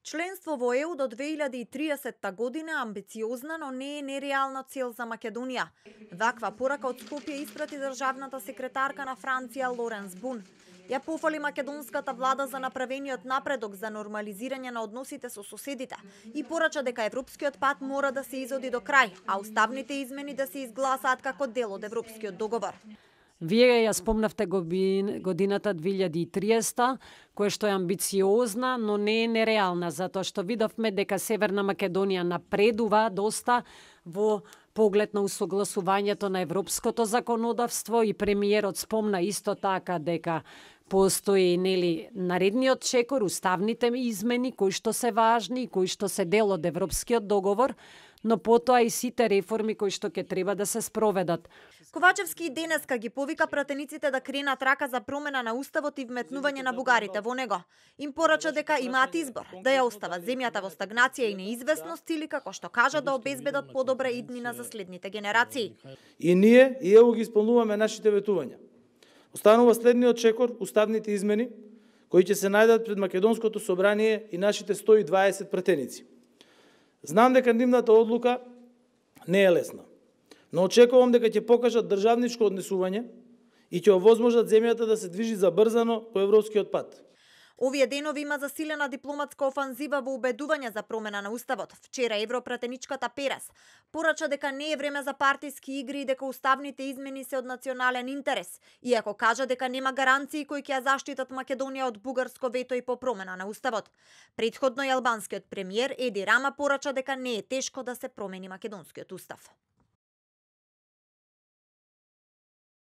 Членство во ЕУ до 2030 година е амбициозна, но не е нереална цел за Македонија. Ваква порака од Скопје испрати државната секретарка на Франција Лоренс Бун. Ја пофали македонската влада за направениот напредок за нормализирање на односите со соседите и порача дека европскиот пат мора да се изоди до крај, а уставните измени да се изгласаат како дел од европскиот договор. Вие ја спомнавте годината 2030, која што е амбициозна, но не е нереална, затоа што видовме дека Северна Македонија напредува доста во поглед на усогласувањето на европското законодавство и премиерот спомна исто така дека постои наредниот чекор, уставните измени кои што се важни, кои што се дел од европскиот договор, но потоа и сите реформи кои што ќе треба да се спроведат. Ковачевски и денеска ги повика пратениците да кренат рака за промена на уставот и вметнување на бугарите во него. Им порача дека имаат избор, да ја остават земјата во стагнација и неизвестност или како што кажа да обезбедат подобра иднина за следните генерации. И ние и ЕУ ги исполнуваме нашите ветувања. Останува следниот чекор, уставните измени, кои ќе се најдат пред Македонското собрание и нашите 120 пратеници. Знам дека нивната одлука не е лесна, но очекувам дека ќе покажат државничко однесување и ќе овозможат земјата да се движи забрзано по европскиот пат. Овие денови има засилена дипломатска офанзива во убедување за промена на уставот. Вчера европратеничката Перес порача дека не е време за партиски игри и дека уставните измени се од национален интерес, иако кажа дека нема гаранции кои ќе ја заштитат Македонија од бугарско вето и по промена на уставот. Претходно и албанскиот премиер Еди Рама порача дека не е тешко да се промени македонскиот устав.